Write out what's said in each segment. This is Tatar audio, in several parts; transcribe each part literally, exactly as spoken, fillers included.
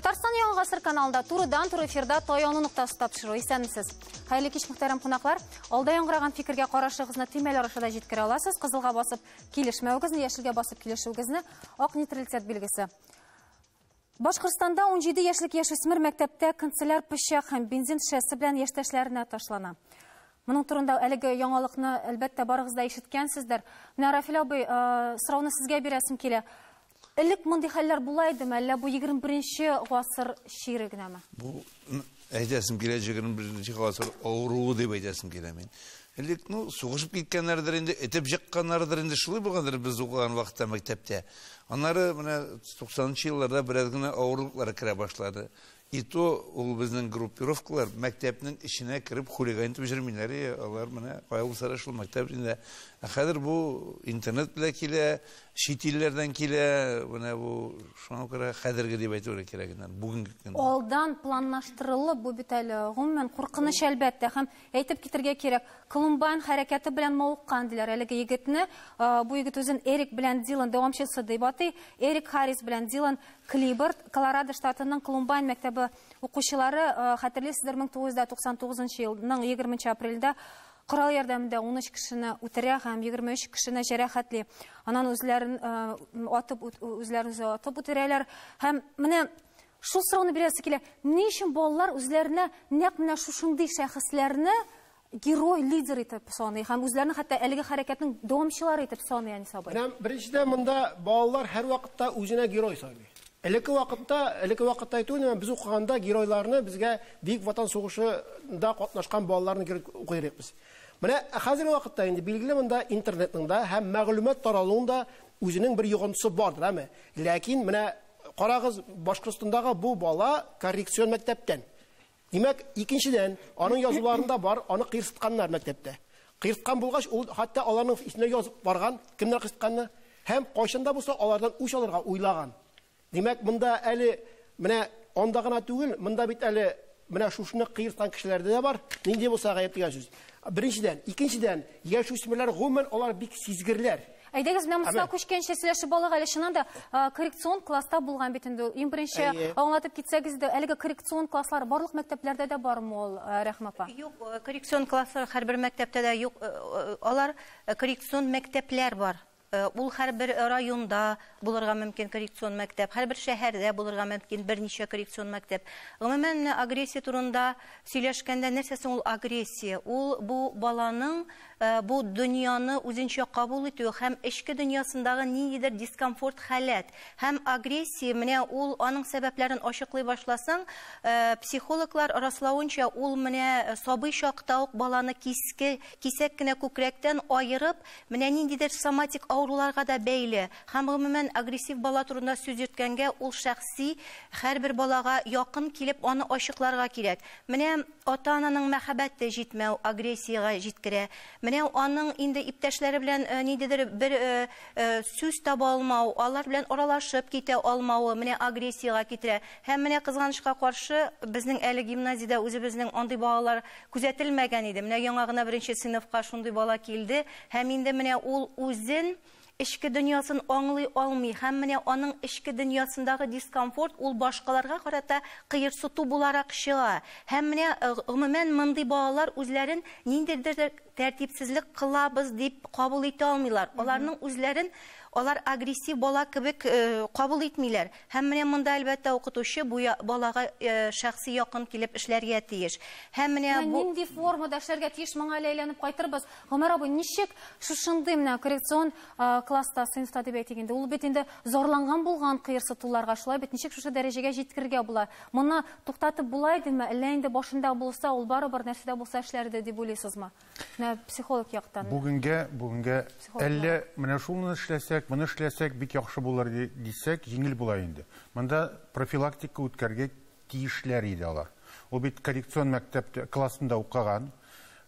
Татарстан Яңа Гасыр каналында турыдан-туры эфирда Таяну ноктасы тапшыруы. Исәнмесез. Хәерле кич, мөхтәрәм кунаклар. Алда яңгыраган фикергә карашыгызны төймәләр аша да җиткерә аласыз. Кызылга басып килешмәвегезне, яшелгә басып килешүегезне, ак нейтралитет билгесе. Башкортстанда ун җиде яшьлек яшүсмер мәктәптә канцеляр пычак һәм бензин шешәсе белән яшьтәшләренә ташлана. Моның турында әлеге яңалыкны әлбәттә барыгыз да ишеткәнсездер. Менә Рафил абый, сорауны сезгә бирәсем килә. Элек мондый хәлләр була идеме, әллә бу егерме беренче гасыр чире генәме? Бу әйтәсем килә, егерме беренче гасыр авыруы дип әйтәсем килә мин. Элек, ну, сугышып киткәннәрдер инде, этеп жыкканнардыр инде, шулай булгандыр без укыган вакытта мәктәптә. Аннары менә туксанынчы елларда бераз генә авырлыклар керә башлады. И то ул безнең группировкалар мәктәпнең эченә кереп хулиган итеп йөрмиләр, алар менә кая булса да шул мәктәп эчендә. Ә хәзер бу интернет белән килә, чит илләрдән килә, менә бу шуңа күрә хәзерге дип әйтү кирәк инде бүгенге көндә. Алдан планлаштырылып, бу бит әле гомумән куркыныч әлбәттә, һәм әйтеп китергә кирәк, Колумбайн хәрәкәте белән мавыккан диләр әлеге егетне. Бу егет үзен Эрик белән Дилан дәвамчысы дип атый. Эрик Харрис белән Дилан Клиберт, Колорадо штатының Колумбайн мәктәбе укучылары, хәтерлисездер, мең тугыз йөз туксан тугызынчы елның егерменче апрелендә корал ярдәмендә ун өч кешене үтерә һәм егерме өч кешене җәрәхәтли. Аннан үзләрен атып, үзләрен үзе атып үтерәләр. Һәм менә шул сорауны бирәсе килә. Ни өчен балалар үзләренә нәкъ менә шушындый шәхесләрне герой, лидер итеп саный һәм үзләрен хәтта әлеге хәрәкәтнең дәвамчылары итеп саный, Әнис абый? Менә беренчедән монда балалар һәр вакытта үзенә герой саный. Элекке вакытта, элекке вакытта әйтү, без укыганда геройларны безгә Бөек Ватан сугышында катнашкан балаларны герой укыйрык без. Менә хәзерге вакытта инде билгеле монда интернетның да һәм мәгълүмат таралуының да үзенең бер йогынтысы бардыр, әме? Ләкин менә карагыз, Башкортстандагы бу бала коррекцион мәктәптән. Димәк, икенчедән, аның язуларында бар, аны кыерсытканнар мәктәптә. Кыерсыткан булгач, ул хәтта аларның исенә язып барган, кемнәр кыерсытканны, һәм кайчан да булса алардан үч алырга уйлаган. Димәк, монда әле менә анда гына түгел, монда бит әле менә шушыны кыерсыткан кешеләр дә бар, нинди булса гаеп дигән сүз. Беренчедән, икенчедән, яшүсмерләр гомумән алар бик сизгерләр. Әйдәгез, менә монысына күчкәнчә сөйләшеп алыйк әле. Чыннан да, коррекцион класста булган бит инде ул. Иң беренче аңлатып китсәгез дә, әлеге коррекцион класслар барлык мәктәпләрдә дә бармы ул, Рәхим апа? Юк, коррекцион класслар һәрбер мәктәптә дә юк. Алар коррекцион мәктәпләр бар. Ул һәрбер районда булырга мөмкин коррекцион мәктәп, һәрбер шәһәрдә булырга мөмкин берничә коррекцион мәктәп. Гомумән, менә агрессия турында сөйләшкәндә нәрсә соң ул агрессия? Ул бу баланың бу дөньяны үзенчә кабул итүе һәм эчке дөньясындагы ниндидер дискомфорт халәт. Һәм агрессия, менә ул аның сәбәпләрен ачыклый башласаң, психологлар раславынча, ул менә сабый чакта ук баланы киске, кисәк кенә күкрәктән аерып, менә ниндидер соматик авыруларга да бәйле. Һәм гомумән агрессив бала турында сүз йөрткәнгә ул шәхси һәрбер балага якын килеп аны ачыкларга кирәк. Менә ата-ананың мәхәббәте җитмәү агрессиягә җиткерә. Менә аның инде иптәшләре белән ниндидер бер сүз таба алмау, алар белән аралашып китә алмавы менә агрессиягә китерә. Һәм менә кызганычка каршы безнең әле гимназиядә үзебезнең андый балалар күзәтелмәгән иде. Менә яңа гына беренче сыйныфка шундый бала килде һәм инде менә ул үзен эчке дөньясын аңлый алмый һәм менә аның эчке дөньясындагы дискомфорт ул башкаларга карата кыерсыту буларак чыга. Һәм менә гомумән мондый балалар үзләрен ниндидер тәртипсезлек кылабыз дип кабул итә алмыйлар. Аларның үзләрен алар агрессив бала кебек кабул итмиләр. Һәм менә монда әлбәттә укытучы бу балага шәхси якын килеп эшләргә тиеш. Һәм менә бу нинди формада эшләргә тиеш, моңа әле әйләнеп кайтырбыз. Гомәр абый, ничек шушындый менә коррекцион класста, сыйныфта дип әйтик инде, ул бит инде зарланган булган кыерсытуларга, шулай бит, ничек шушы дәрәҗәгә җиткерергә була? Моны туктатып була идеме, әллә инде башында булса, ул барыбер нәрсәдә булса эшләр иде дип уйлыйсызмы? Менә психолог яктан. Бүгенгә, бүгенгә әллә менә шуны эшләсәк, моны эшләсәк бик яхшы булыр дисәк, җиңел була инде. Монда профилактика үткәргә тиешләр иде алар. Ул бит коррекцион мәктәп классында укыган,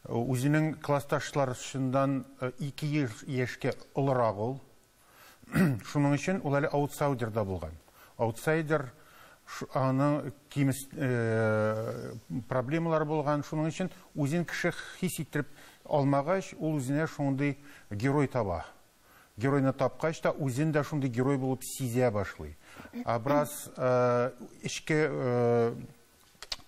үзенең классташларыннан ике яшькә олырак ул. Шуның өчен ул әле аутсайдерда булган. Аутсайдер аның кимес проблемалары булган, шуның өчен үзен кеше хис иттереп алмагач, ул үзенә шундый герой таба. Геройны тапкач та үзен дә шундый герой булып сизә башлый. А бераз эчке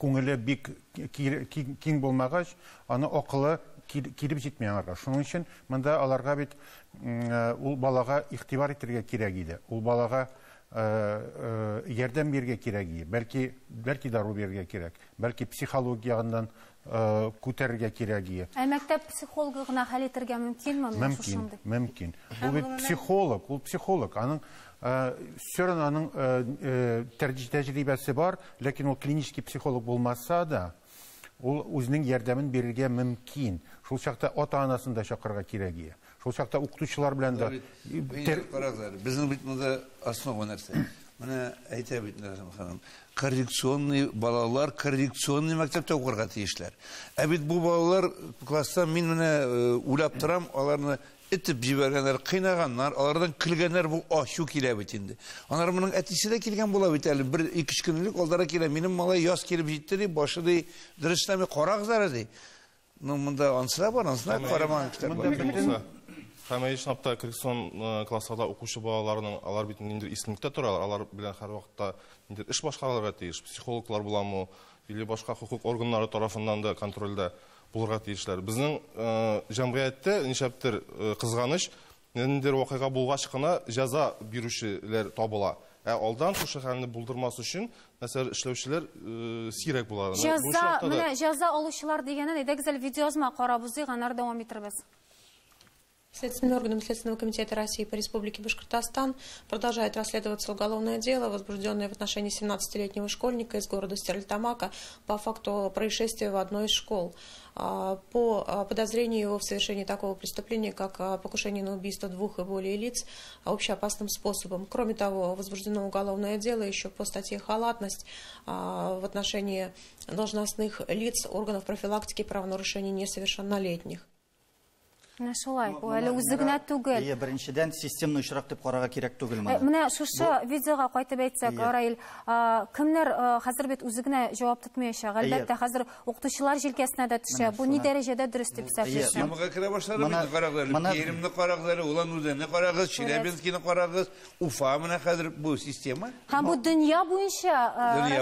күңеле бик киң булмагач, аны акылы килеп җитми аңарга. Шуның өчен монда аларга бит ул балага игътибар итәргә кирәк иде. Ул балага ярдәм бирергә кирәк иде. Бәлки, бәлки дару бирергә кирәк, бәлки психология ягыннан күтәрергә кирәк иде. Ә мәктәп психологы гына хәл итәргә мөмкинме? Мөмкин, мөмкин. Ул бит психолог, ул психолог. Аның все равно аның тәҗрибәсе бар, ләкин ул клинический психолог булмаса да, ул үзенең ярдәмен бирергә мөмкин. Шул чакта ата-анасын да чакырырга кирәк иде. Шул чакта укытучылар белән дә. Безнең бит монда основа нәрсә. Менә әйтә бит Нәсим ханым, коррекционный балалар коррекционный мәктәптә укырга тиешләр. Ә бит бу балалар класста мин менә уйлап торам, аларны итеп җибәргәннәр, кыйнаганнар, алардан көлгәннәр, бу ачу килә бит инде. Анар моның әтисе дә килгән була бит әле, бер ике-өч көнлек алдара килә. Минем малай яз килеп җитте ди, башы ди, дөрес эшләми, карагыз әле ди. Ну монда ансы да бар, ансына карамаган кешеләр бар. Һәм чынлап та коррекцион классларда укучы балаларның алар бит ниндидер исемлектә торалар, алар белән һәрвакытта ниндидер эш башкарырга тиеш, психологлар буламы или башка хукук органнары тарафыннан да контрольдә булырга тиешләр. Безнең җәмгыятьтә нишләптер кызганыч, ниндидер вакыйга булгач кына җәза бирүчеләр табыла. Ә алдан шушы хәлне булдырмас өчен нәрсәләр эшләүчеләр сирәк була. Җәза, менә җәза алучылар дигәннән әйдәгез әле видеоязма карап узыйк, аннары дәвам итербез. Следственным органом Следственного комитета России по Республике Башкортостан продолжает расследоваться уголовное дело, возбужденное в отношении семнадцатилетнего школьника из города Стерлитамака по факту происшествия в одной из школ. По подозрению его в совершении такого преступления, как покушение на убийство двух и более лиц общеопасным способом. Кроме того, возбуждено уголовное дело еще по статье «Халатность» в отношении должностных лиц органов профилактики правонарушений несовершеннолетних. Менә шулай, бу әле үзе генә түгел. Әйе, беренчедән системный очрак дип карарга кирәк түгел моны. Менә шушы видеога кайтып әйтсәк, Раил, кемнәр хәзер бит үзе генә җавап тотмаячак. Әлбәттә, хәзер укытучылар җилкәсенә дә төшә. Бу ни дәрәҗәдә дөрес дип исәплисез? Системага керә башлады бит, карагыз әле. Пермьне карагыз әле, Улан-Удэны карагыз, Челябинскийны карагыз, Уфа менә хәзер бу система. Һәм бу дөнья буенча,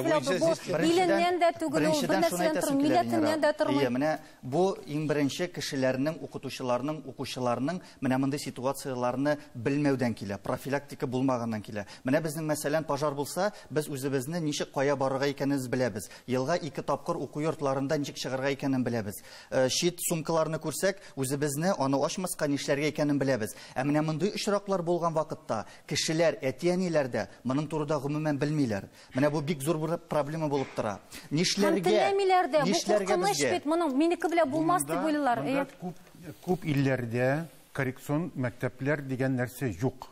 бу иленнән дә түгел, ул бер нәрсәдән тормый, милләтеннән дә тормый. Менә бу иң беренче кешеләрнең, укытучылар укучыларның менә мондый ситуацияләрне белмәүдән килә, профилактика булмаганнан килә. Менә безнең мәсәлән пожар булса, без үзебезне ничек кая барырга икәнен беләбез. Елга ике тапкыр уку йортларында ничек чыгарга икәнен беләбез. Чит сумкаларны күрсәк, үзебезне аны ачмаска нишләргә икәнен беләбез. Ә менә мондый очраклар булган вакытта кешеләр, әти-әниләр дә моның турында гомумән белмиләр. Менә бу бик зур бер проблема булып тора. Нишләргә? Бу куркыныч бит, моның минеке белән булмас дип уйлыйлар. Күп илләрдә коррекцион мәктәпләр дигән нәрсә юк.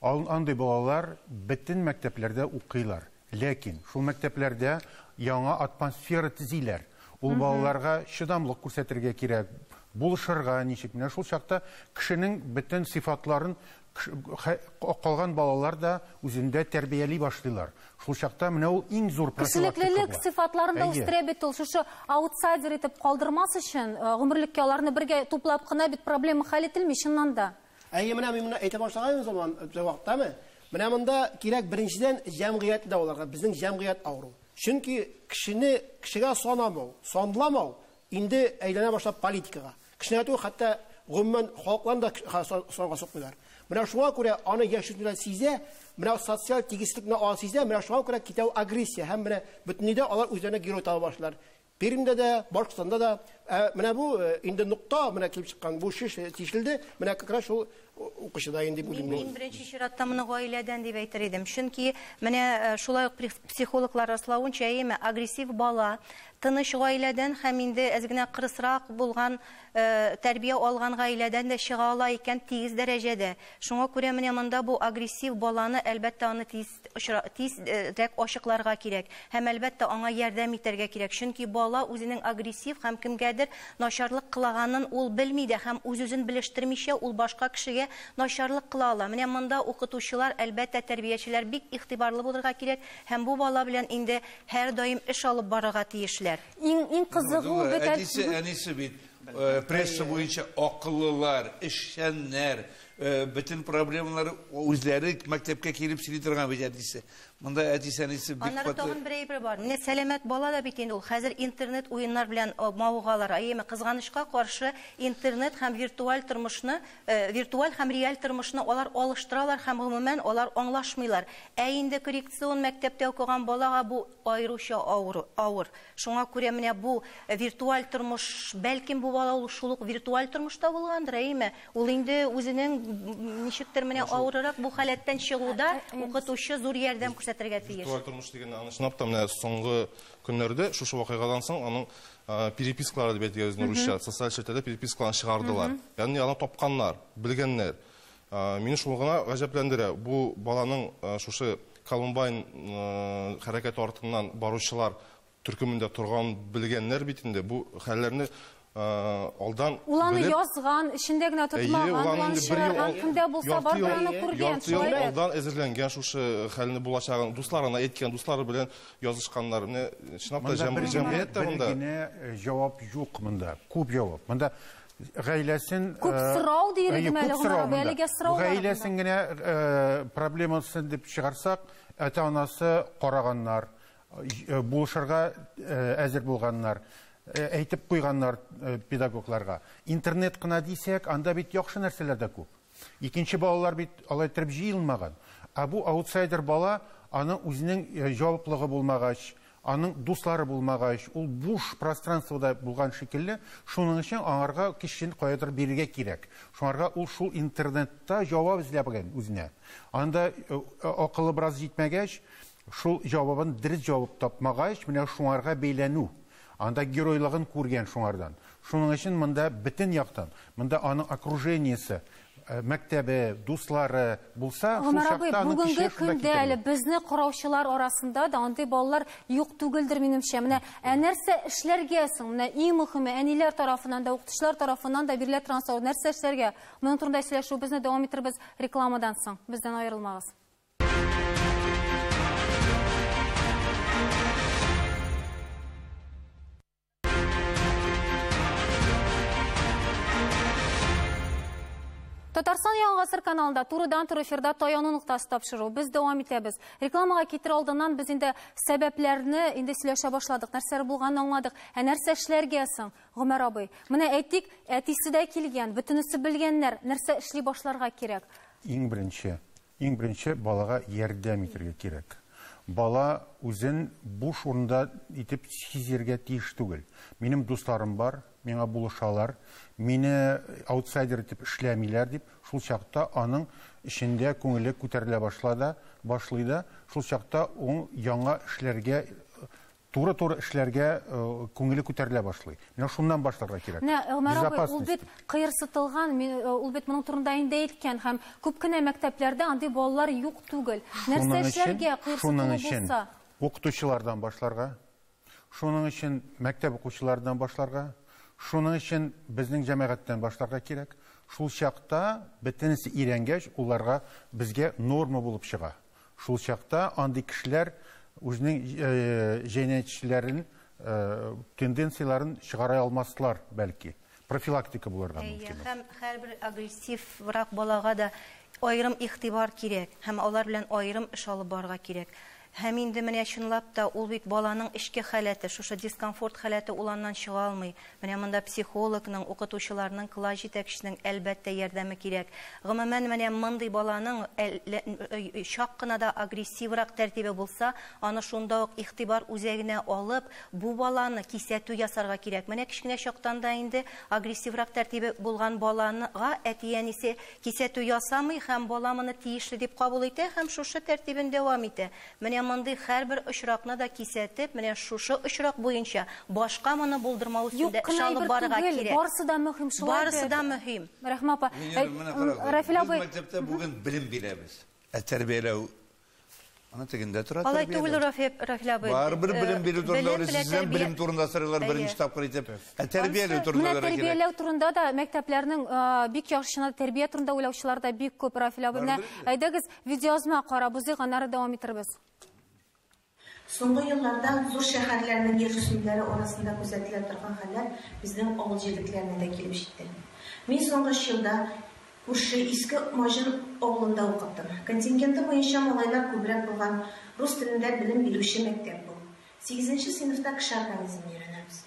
Андый балалар бөтен мәктәпләрдә укыйлар. Ләкин шул мәктәпләрдә яңа атмосфера төзиләр. Ул балаларга чыдамлык күрсәтергә кирәк, булышырга ничек. Менә шул чакта кешенең бөтен сыйфатларын калган балалар да үзендә тәрбияли башлыйлар. Шул чакта менә ул иң зур профилактика. Кешелеклелек сыйфатларын да үстерә бит ул. Шушы аутсайдер итеп калдырмас өчен, гомерлеккә аларны бергә туплап кына бит проблема хәл ителми чыннан да. Әйе, менә мин моны әйтә башлаган заман вакыттамы? Менә монда кирәк беренчедән җәмгыять дә аларга, безнең җәмгыять авыру. Чөнки кешене кешегә санамау, санламау инде әйләнә башлап политикага. Кешене түгел, хәтта гомумән халыкларны да санга сукмыйлар. Менә шуңа күрә аны яшүсмерләр сизә, менә социаль тигезлекне аны сизә, менә шуңа күрә китә агрессия һәм менә бөтенләй алар үзләренә герой таба башлар. Пермьдә дә, Башкортстанда да, менә бу инде нокта менә килеп чыккан, бу шеш тишелде, менә как раз шул укучыда инде бу. Мин беренче чиратта моны гаиләдән дип әйтер идем. Чөнки менә шулай ук психологлар раславынча, әйеме, агрессив бала тыныч гаиләдән һәм инде әз генә кырысрак булган тәрбия алган гаиләдән дә чыга ала икән тигез дәрәҗәдә. Шуңа күрә менә монда бу агрессив баланы әлбәттә аны тиз тизрәк ачыкларга кирәк һәм әлбәттә аңа ярдәм итәргә кирәк. Чөнки бала үзенең агрессив һәм кемгәдер начарлык кылаганын ул белми дә һәм үз-үзен белештермичә ул башка кешегә начарлык кыла ала. Менә монда укытучылар, әлбәттә тәрбиячеләр бик игътибарлы булырга кирәк һәм бу бала белән инде һәр даим эш алып барырга тиешләр. Иң иң кызыгы бит әтисе, әнисе бит пресса буенча акыллылар, эшчәннәр, бөтен проблемалары үзләре мәктәпкә килеп сөйли торган бит әтисе. Монда әтисе әнисе бик каты. Аннары тагын бер әйбер бар. Менә сәламәт бала да бит инде ул. Хәзер интернет уеннар белән мавыгалар. Әйеме, кызганычка каршы интернет һәм виртуаль тормышны, виртуаль һәм реаль тормышны алар алыштыралар һәм гомумән алар аңлашмыйлар. Ә инде коррекцион мәктәптә укыган балага бу аеруча авыр, авыр. Шуңа күрә менә бу виртуаль тормыш, бәлкем бу бала ул шул ук виртуаль тормышта булгандыр, әйеме? Ул инде үзенең ничектер менә авыррак бу халәттән чыгуда укытучы зур ярдәм күрсәтергә тиеш. Виртуаль тормыш дигән аны чынлап та менә соңгы көннәрдә шушы вакыйгадан соң аның перепискалары дип әйтергә үзенең русча социаль челтәрдә перепискаларын чыгардылар. Ягъни аны тапканнар, белгәннәр. Мине шул гына гаҗәпләндерә. Бу баланың шушы Колумбайн хәрәкәте артыннан баручылар төркемендә торган белгәннәр бит инде бу хәлләрне алдан Ул аны язган, эчендә генә тотмаган, ул аны чыгарган, кемдә булса бар, аны күргән. Ярты ел алдан әзерләнгән шушы хәлне булачагын дусларына әйткән, дуслары белән язышканнар. Менә чынлап та җәмгыять тә монда. Бер генә җавап юк монда, күп җавап. Монда гаиләсен күп сорау дирем әле, әлегә сорау. Гаиләсен генә проблемасын дип чыгарсак, ата-анасы караганнар, булышырга әзер булганнар, әйтеп куйганнар педагогларга. Интернет кына дисәк, анда бит яхшы нәрсәләр дә күп. Икенче балалар бит алай итеп җыелмаган. Ә бу аутсайдер бала, аның үзенең җаваплылыгы булмагач, аның дуслары булмагач, ул буш пространствода булган шикелле, шуның өчен аңарга кешене каядыр бирергә кирәк. Шуңарга ул шул интернетта җавап эзләгән үзенә. Анда акылы бераз җитмәгәч, шул җавабын дөрес җавап тапмагач, менә шуңарга бәйләнү. Анда геройлыгын күргән шуңардан. Шуның өчен монда бөтен яктан, монда аның окружениесе, мәктәбе, дуслары булса, шул чакта аның бүгенге көндә әле безне караучылар арасында да андый балалар юк түгелдер минемчә. Менә ә нәрсә эшләргә соң? Менә иң мөһиме әниләр тарафыннан да, укытучылар тарафыннан да бирелә торган сорау, нәрсә эшләргә? Моның турында сөйләшүебезне дәвам итербез рекламадан соң. Бездән аерылмагыз. Татарстан Яңа Гасыр каналында турыдан-туры эфирда таяну ноктасы тапшыру. Без дәвам итәбез. Рекламага китер алдыннан без инде сәбәпләрне инде сөйләшә башладык. Нәрсәләр булганын аңладык. Ә нәрсә эшләргә соң, Гомәр абый? Менә әйтик, әтисе дә килгән, бөтенесе белгәннәр. Нәрсә эшли башларга кирәк? Иң беренче, иң беренче балага ярдәм итәргә кирәк. Бала үзен буш урында итеп сизергә тиеш түгел. Минем дусларым бар, миңа булышалар, мине аутсайдер итеп эшләмиләр дип, шул чакта аның эчендә күңеле күтәрелә башлады, башлый да, шул чакта ул яңа эшләргә, туры-туры эшләргә күңеле күтәрелә башлый. Менә шуннан башларга кирәк. Менә Гомәр абый, ул бит кыерсытылган, ул бит моның турында инде әйткән һәм күп кенә мәктәпләрдә андый балалар юк түгел. Нәрсә эшләргә кыерсытылу булса? Укытучылардан башларга, шуның өчен мәктәп укучылардан башларга, шуның өчен безнең җәмәгатьтән башларга кирәк. Шул чакта бөтенесе өйрәнгәч, уларга безгә норма булып чыга. Шул чакта андый кешеләр үзенең җинаятьчеләрен, тенденцияләрен чыгара алмаслар бәлки. Профилактика булырга мөмкин. Һәм һәрбер агрессиврак балага да аерым игътибар кирәк, һәм алар белән аерым эш алып барырга кирәк. Һәм инде менә чынлап та ул бит баланың эчке халәте, шушы дискомфорт халәте ул аннан чыга алмый. Менә монда психологның, укытучыларның, класс җитәкчесенең әлбәттә ярдәме кирәк. Гомумән менә мондый баланың чак кына да агрессиврак тәртибе булса, аны шунда ук игътибар үзәгенә алып, бу баланы кисәтү ясарга кирәк. Менә кечкенә чактан да инде агрессиврак тәртибе булган балага әти-әнисе кисәтү ясамый һәм бала моны тиешле дип кабул итә һәм шушы тәртибен дәвам итә. Менә мондый һәрбер очракны да кисәтеп, менә шушы очрак буенча башка моны булдырмау өстендә эш алып барырга кирәк. Барысы да мөһим, шулай. Барысы да мөһим. Рәхмә апа, Рафил абый, без мәктәптә бүген белем бирәбез. Ә тәрбияләү ана тегендә тора. Алай түгел, Рафил абый. Барыбер белем бирү турында уйлыйсыз, белем турында сорыйлар беренче тапкыр итеп. Ә тәрбияләү турында да. Менә тәрбияләү турында да мәктәпләрнең бик яхшы тәрбия турында уйлаучылар да бик күп, Рафил абый. Менә әйдәгез видеоязма карап узыйк, аннары дәвам итербез. Соңгы елларда зур шәһәрләрнең яшүсмерләре арасында күзәтелә торган хәлләр безнең авыл җирлекләренә дә килеп җитте. Мин соңгы өч елда Күрше Иске Маҗын авылында укыттым. Контингенты буенча малайлар күбрәк булган рус телендә белем бирүче мәктәп бу. Сигезенче сыйныфта кеше организмын өйрәнәбез.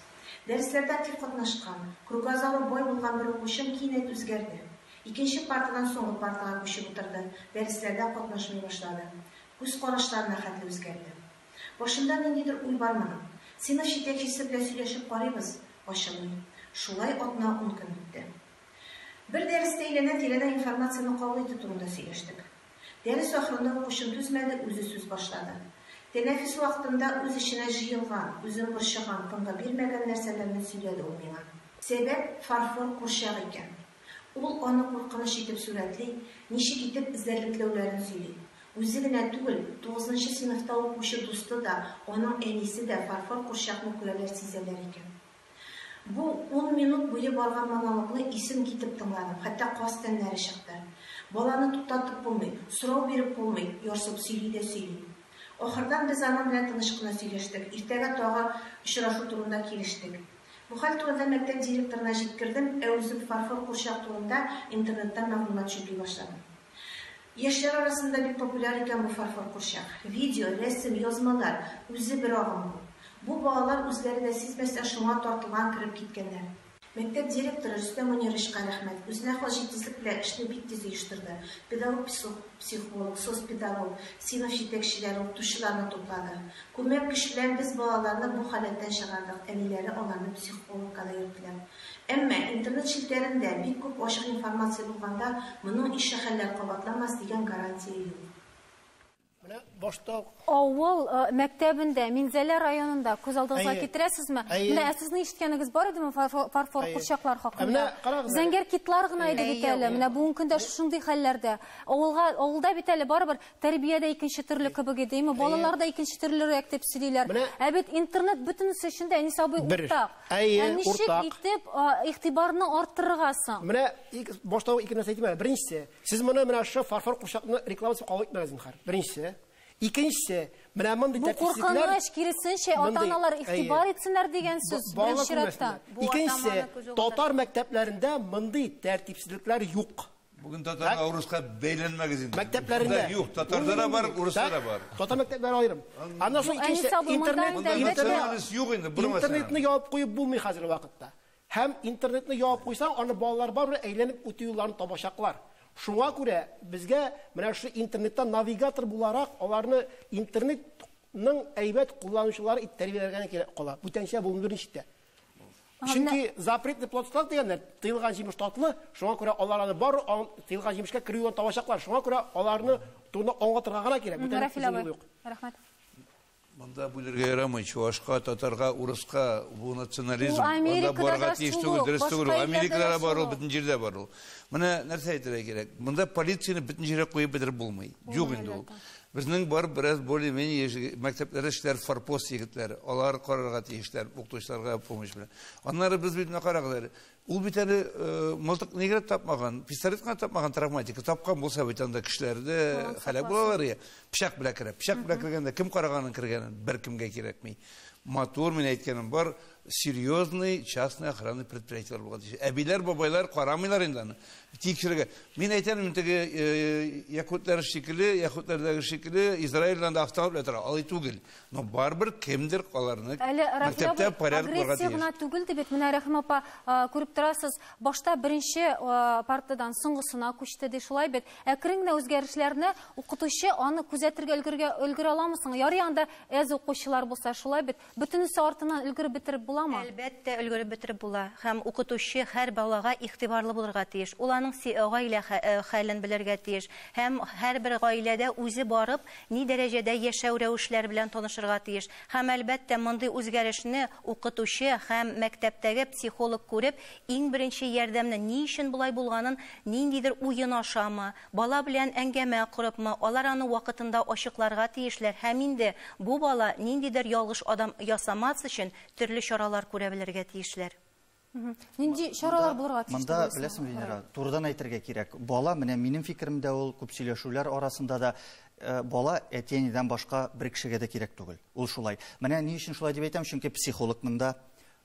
Дәресләрдә актив катнашкан, кругозоры бай булган бер укучым кинәт үзгәрде. Икенче партадан соңгы партага күчеп утырды, дәресләрдә катнашмый башлады. Күз карашларына хәтле үзгәрде. Башында ниндидер уй бар моның. Сыйныф җитәкчесе белән сөйләшеп карыйбыз, ачылмый. Шулай атна ун көн үтте. Бер дәрестә әйләнә-тирәдә информацияне кабул итү турында сөйләштек. Дәрес ахырында укучым түзмәде, үзе сүз башлады. Тәнәфес вакытында үз эченә җыелган, үзен борчыган, тынгы бирмәгән нәрсәләрне сөйләде ул миңа. Сәбәп фарфор курчак икән. Ул аны куркыныч итеп сурәтли, ничек итеп эзәрлекләүләрен сөйли. Үзе генә түгел, тугызынчы сыйныфта укучы дусты да, аның әнисе дә фарфор курчакны күрәләр, сизәләр икән. Бу ун минут буе барган монологны исем китеп тыңладым, хәтта каз тәннәре чыкты. Баланы туктатып булмый, сорау биреп булмый, ярсып сөйли дә сөйли. Ахырдан без аның белән тыныч кына сөйләштек, иртәгә тагы очрашу турында килештек. Бу хәл турында мәктәп директорына җиткердем, ә үзем фарфор курчак турында интернеттан мәгълүмат чүпли башладым. Яшьләр арасында бик популяр икән бу фарфор курчак. Видео, рәсем, язмалар үзе бер агым бу. Бу балалар үзләре дә сизмәстән шуңа тартылган кереп киткәннәр. Мәктәп директоры Рөстәм Мөнировичка рәхмәт. Үзенә хас җитезлек белән эшне бик тиз оештырды. Педагог, психолог, соцпедагог, сыйныф җитәкчеләре, укытучыларны туплады. Күмәк көч белән без балаларны бу халәттән чыгардык. Әниләре аларны психологка да йөрттеләр. Әмма интернет челтәрендә бик күп ачык информация булганда, моның ише хәлләр кабатланмас дигән гарантия юк. Башта авыл мәктәбендә, Минзәлә районында күз алдыгызга китерәсезме? Менә сезнең ишеткәнегез бар идеме фарфор курчаклар хакында? Зәңгәр китлар гына иде бит әле. Менә бүгенге көндә шушындый хәлләрдә. Авылга, авылда бит әле барыбер тәрбия дә икенче төрле кебек иде, балалар да икенче төрлерәк дип сөйлиләр. Ә бит интернет бөтенесе өчен дә Әнис абый уртак. Ничек итеп игътибарны арттырырга соң? Менә башта ике нәрсә әйтим әле. Беренчесе, сез моны менә шушы фарфор курчакны рекламасы кабул итмәгез, зинһар. Беренчесе. Икенчесе, менә мондый тәртипсезлекләр... Бу куркыныч, киресенчә, ата-аналар игътибар итсеннәр дигән сүз, беренче чиратта. Икенчесе, татар мәктәпләрендә мондый тәртипсезлекләр юк. Бүген татарга, урыска бәйләнмәгез инде. Мәктәпләрендә юк, татарда да бар, урыста да бар. Татар мәктәпләре аерым. Аннан соң икенчесе, интернетны ябып куеп булмый хәзерге вакытта. Һәм интернетны ябып куйсаң, аны балалар барыбер әйләнеп үтү юлларын табачаклар. Шуңа күрә безгә менә шу интернеттан навигатор буларак аларны интернетның әйбәт кулланучылары итеп тәрбияләргә кирәк кала. Бүтәнчә булмый берничә. Чөнки запретный плод сладкий дигәннәр, тыелган җимеш татлы, шуңа күрә алар аны бар тыелган җимешкә керү юлын табачаклар. Шуңа күрә аларны турында аңлатырга гына кирәк. Бүтән юл юк. Рәхмәт. Монда бүлергә ярамый, чувашка, татарга, урыска, бу национализм, анда барырга тиеш түгел, дөрес түгел. Америкада да бар ул, бөтен җирдә бар ул. Менә нәрсә әйтергә кирәк? Монда полицияне бөтен җиргә куеп бетереп булмый. Юк инде ул. Безнең бар бераз более-менее мәктәпләрдә эшләр форпост егетләре, алар карарга тиешләр, укытучыларга помощь белән. Аннары без бит менә карагыз әле. Ул бит әле мылтык нигә тапмаган, пистолет кына тапмаган травматика, тапкан булса бит анда кешеләрдә һәлак булалар я. Пычак белән керә. Пычак белән кергәндә кем караганын кергәнен беркемгә кирәкми. Матур мин әйткәнем бар, серьезный частный охранный предприятиеләр булган. Әбиләр, бабайлар карамыйлар инде аны. Тикшерергә. Мин әйтәм, теге якутлар шикелле, якутлардагы шикелле Израильдән дә автомат белән тора. Алай түгел. Но барыбер кемдер аларны мәктәптә порядок булырга тиеш. Агрессия гына түгел дип бит. Менә Рәхим апа күреп торасыз, башта беренче партадан соңгысына күчте ди, шулай бит. Әкрен генә үзгәрешләрне укытучы аны күзәтергә өлгергә өлгерә аламы соң? Ярый анда әз укучылар булса, шулай бит. Бөтенесе артыннан өлгереп бетереп буламы? Әлбәттә, өлгереп бетереп була. Һәм укытучы һәр балага игътибарлы булырга тиеш. Ул аның гаилә хәлен белергә тиеш. Һәм һәрбер гаиләдә үзе барып, ни дәрәҗәдә яшәү рәвешләре белән танышырга тиеш. Һәм әлбәттә, мондый үзгәрешне укытучы һәм мәктәптәге психолог күреп, иң беренче ярдәмне ни өчен болай булганын, ниндидер уен ашамы, бала белән әңгәмә корыпмы, алар аны вакытында ачыкларга тиешләр. Һәм инде бу бала ниндидер ялгыш адам ясамас өчен төрле чаралар күрә белергә тиешләр. Нинди чаралар булырга тиеш? Монда беләсеңме, Венера, турыдан әйтергә кирәк. Бала, менә минем фикеремдә ул күп сөйләшүләр арасында да бала әти-әнидән башка бер кешегә дә кирәк түгел. Ул шулай. Менә ни өчен шулай дип әйтәм? Чөнки психологның да,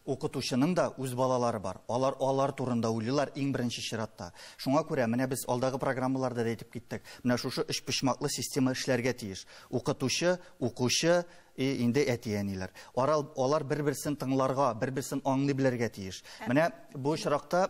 Укытучының да үз балалары бар. Алар алар турында уйлыйлар иң беренче чиратта. Шуңа күрә менә без алдагы программаларда да әйтеп киттек. Менә шушы өч почмаклы система эшләргә тиеш. Укытучы, укучы, инде әти-әниләр. Алар бер-берсен тыңларга, бер-берсен аңлый белергә тиеш. Менә бу очракта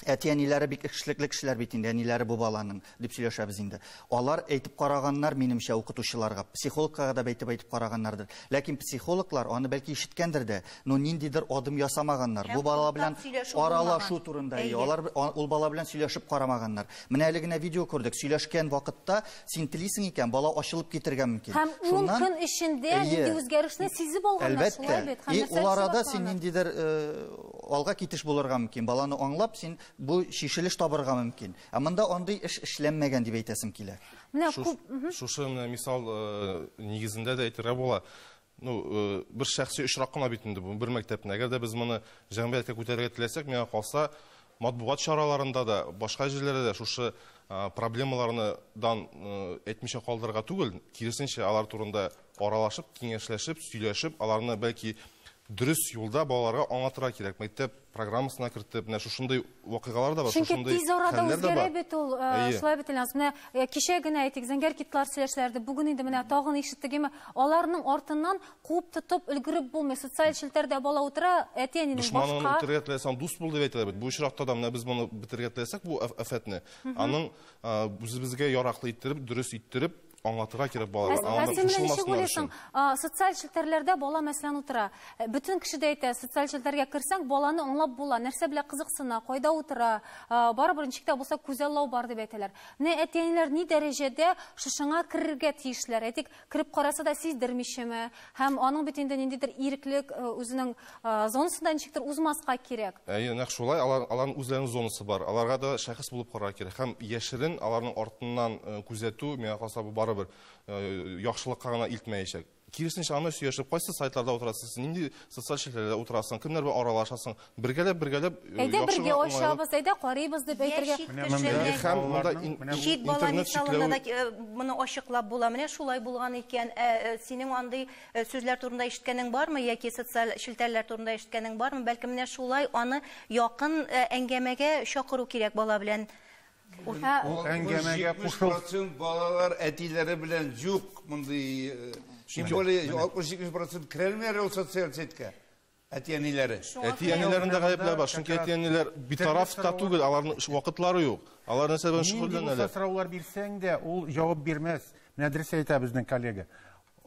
әти-әниләре бик эшлекле кешеләр бит инде, әниләре бу баланың дип сөйләшәбез инде. Алар әйтеп караганнар, минемчә, укытучыларга, психологка да әйтеп әйтеп караганнардыр. Ләкин психологлар аны бәлки ишеткәндер дә, но ниндидер адым ясамаганнар. Бу бала белән аралашу турында, алар ул бала белән сөйләшеп карамаганнар. Менә әле генә видео күрдек. Сөйләшкән вакытта син телисең икән, бала ачылып китергә мөмкин. Һәм ун көн эчендә нинди үзгәрешне сизеп алганнар, шулай бит. Һәм ул арада син ниндидер алга китеш булырга мөмкин. Баланы аңлап, син бу шешелеш табырга мөмкин. Ә монда андый эш эшләнмәгән дип әйтәсем килә. Шушы мисал нигезендә дә әйтергә була. Ну, бер шәхси очрак кына бит инде бу, бер мәктәпне. Әгәр дә без моны җәмгыятькә күтәрергә теләсәк, миңа калса, матбугат чараларында да, башка җирләрдә дә шушы проблемаларны дан әйтмичә калдырырга түгел, киресенчә, алар турында аралашып, киңәшләшеп, сөйләшеп, аларны бәлки дөрес юлда балаларга аңлатырга кирәк. Мәктәп программасына кертеп, менә шушындый вакыйгалар да бар, шушындый тиз арада үзгәрә бит ул, шулай бит инде. Менә кичә генә әйтик, зәңгәр китлар сөйләшләрде, бүген инде менә тагын ишеттек, аларның артыннан куып тотып өлгереп булмый. Социаль челтәрдә бала утыра, әти-әнинең башка дошманын үтерергә теләсәң, дус бул дип әйтәләр бит. Бу очракта да менә без моны бетерергә теләсәк, бу афәтне, аның үзебезгә яраклы иттереп, дөрес иттереп аңлатырга кирәк балаларга. Ә син менә ничек уйлыйсың? Социаль челтәрләрдә бала мәсәлән утыра. Бөтен кеше дә әйтә, социаль челтәргә керсәң, баланы аңлап була, нәрсә белән кызыксына, кайда утыра, барыбер ничек тә булса күзаллау бар дип әйтәләр. Менә әти-әниләр ни дәрәҗәдә шушыңа керергә тиешләр? Әйтик, кереп караса да сиздермичеме? Һәм аның бит инде ниндидер иреклек үзенең зонасында ничектер узмаска кирәк. Әйе, нәкъ шулай, алар аларның үзләренең зонасы бар. Аларга да шәхес булып карарга кирәк. Һәм яшерен аларның артыннан күзәтү, миңа калса, бу барыбер яхшылыкка гына илтмәячәк. Киресенчә, аны сөйләшеп, кайсы сайтларда утырасың, нинди социаль челтәрләрдә утырасың, кемнәр белән аралашасың, бергәләп бергәләп әйдә бергә ашабыз, әйдә карыйбыз дип әйтергә. Чит бала мисалында да моны ачыклап була. Менә шулай булган икән, синең андый сүзләр турында ишеткәнең бармы яки социаль челтәрләр турында ишеткәнең бармы? Бәлки менә шулай аны якын әңгәмәгә чакыру кирәк бала белән. Ул әңгәмәгә кушыл процент балалар әтиләре белән юк мондый, тем более алтмыш җитмеш процент керәлмиләр ул социаль сетькә. Әти-әниләре. Әти-әниләрен дә гаепләп бар, чөнки әти-әниләр битараф та түгел, аларның вакытлары юк. Алар нәрсә белән шөгыльләнәләр. Нинди сораулар бирсәң дә, ул җавап бирмәс. Менә дөрес әйтә безнең коллега.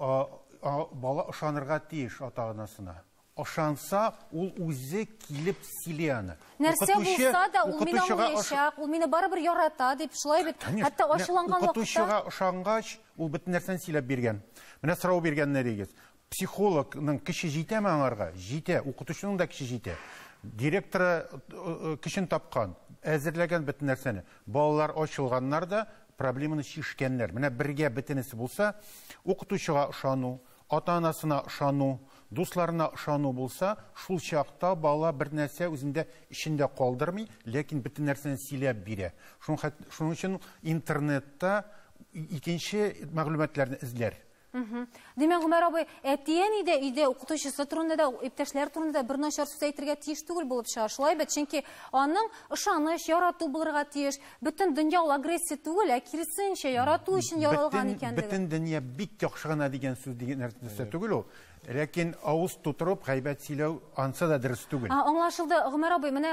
Бала ышанырга тиеш ата-анасына. Ышанса, ул үзе килеп сөйли аны. Нәрсә булса да, ул мине аңлаячак, ул мине барыбер ярата дип, шулай бит. Хәтта ачуланган вакытта укытучыга ышангач, ул бөтен нәрсәне сөйләп биргән. Менә сорау биргәннәр егез. Психологның көче җитәме аңарга? Җитә, укытучының да көче җитә. Директоры көчен тапкан, әзерләгән бөтен нәрсәне. Балалар ачылганнар да проблеманы чишкәннәр. Менә бергә бөтенесе булса, укытучыга ышану, ата-анасына ышану, дусларына ышану булса, шул чакта бала бер нәрсә үзендә эчендә калдырмый, ләкин бөтен нәрсәне сөйләп бирә. Шуның өчен интернетта икенче мәгълүматларны эзләр. Димәк, Гомәр абый, әти-әни дә өйдә укытучысы турында да, иптәшләр турында да бер начар сүз әйтергә тиеш түгел булып чыга. Шулай бит, чөнки аның ышаныч, ярату булырга тиеш. Бөтен дөнья ул агрессия түгел, ә киресенчә, ярату өчен яралган икәнлеге. Бөтен дөнья бик яхшы гына дигән сүз дигән нәрсә түгел ул. Ләкин авыз тутырып гайбәт сөйләү ансы да дөрес түгел. Аңлашылды, Гомәр абый, менә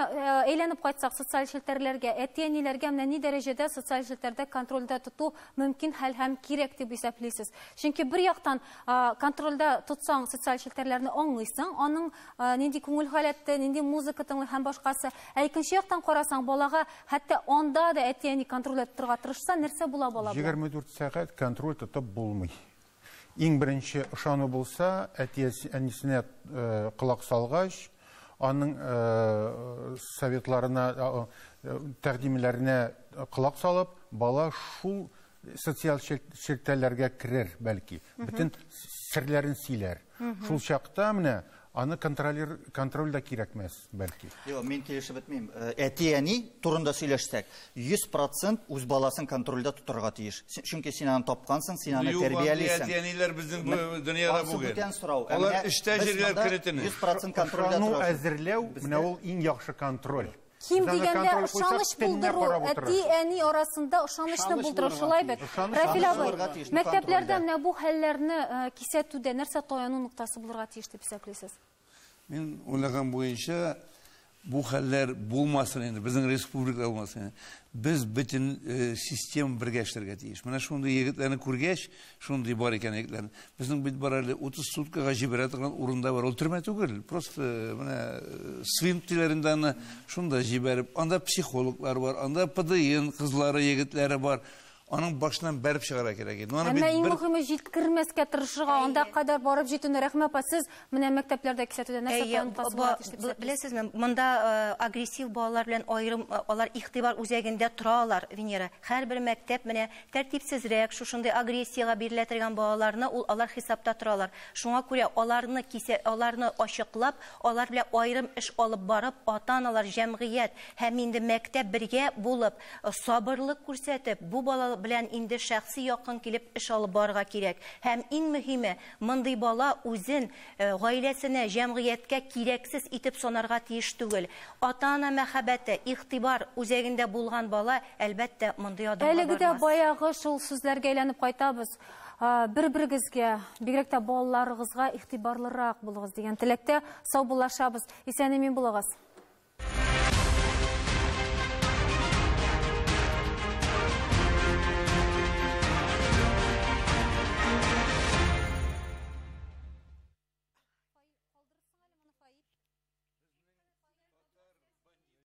әйләнеп кайтсак социаль челтәрләргә, әти-әниләргә менә ни дәрәҗәдә социаль челтәрдә контрольдә тоту мөмкин хәл һәм кирәк дип исәплисез? Чөнки бер яктан контрольдә тотсаң социаль челтәрләрне аңлыйсың, аның нинди күңел халәте, нинди музыка тыңлый һәм башкасы. Ә икенче яктан карасаң, балага хәтта анда да әти-әни контрольдә тотырга тырышса, нәрсә була бала белән? Егерме дүрт сәгать контроль тотып булмый. Иң беренче ышану булса, әти-әнисенә колак салгач, аның советларына, тәкъдимнәренә колак салып, бала шул социаль челтәрләргә керер бәлки, бөтен серләрен сөйләр. Шул чакта менә Аны контролер, контроль да кирәкмәс, бәлки. Юк, мин килешеп бетмим. Әти-әни турында сөйләшсәк, йөз процент үз баласын контрольдә тотарга тиеш. Чөнки син аны тапкансың, син аны тәрбиялисең. Әти-әниләр безнең дөньяда бүген. Бүтән сорау. Алар эштә җирләр керетене. йөз процент контрольдә торасың. Әзерләү, менә ул иң яхшы контроль. Ким дигәндә ышаныч булдыру, әти-әни арасында ышанычны булдыру, шулай бит. Рафил абый, мәктәпләрдә менә бу хәлләрне кисәтүдә нәрсә таяну ноктасы булырга тиеш дип исәплисез? Мин уйлаган буенча, бу хәлләр булмасын инде, безнең республикада булмасын инде. Без бөтен система бергә эшләргә тиеш. Менә шундый егетләрне күргәч, шундый бар икән егетләрне. Безнең бит бар әле утыз суткага җибәрә торган урында бар. Ул төрмә түгел, просто менә свинт диләр инде аны, шунда җибәреп, анда психологлар бар, анда П Д Н кызлары, егетләре бар. Аның башынан бәреп чыгара кирәк иде. Әмма иң мөһиме җиткермәскә тырышырга, анда кадәр барып җитүне. Рәхмә апа, сез менә мәктәпләрдә кисәтүдә нәрсә танытасыз булырга тиеш дип исәплисез? Беләсезме, монда агрессив балалар белән аерым, алар игътибар үзәгендә торалар, Венера. Һәрбер мәктәп менә тәртипсезрәк, шушындый агрессиягә бирелә торган балаларны ул алар хисапта торалар. Шуңа күрә аларны кисә, аларны ачыклап, алар белән аерым эш алып барып, ата-аналар, җәмгыять һәм инде мәктәп бергә булып, сабырлык күрсәтеп, бу бала белән инде шәхси якын килеп эш алып барырга кирәк. Һәм иң мөһиме, мондый бала үзен гаиләсенә, җәмгыятькә кирәксез итеп санарга тиеш түгел. Ата-ана мәхәббәте, игътибар үзәгендә булган бала, әлбәттә, мондый адымга бармас. Әлеге дә баягы шул сүзләргә әйләнеп кайтабыз. Бер-берегезгә, бигрәк тә балаларыгызга игътибарлырак булыгыз дигән теләктә саубуллашабыз. Исән-имин булыгыз.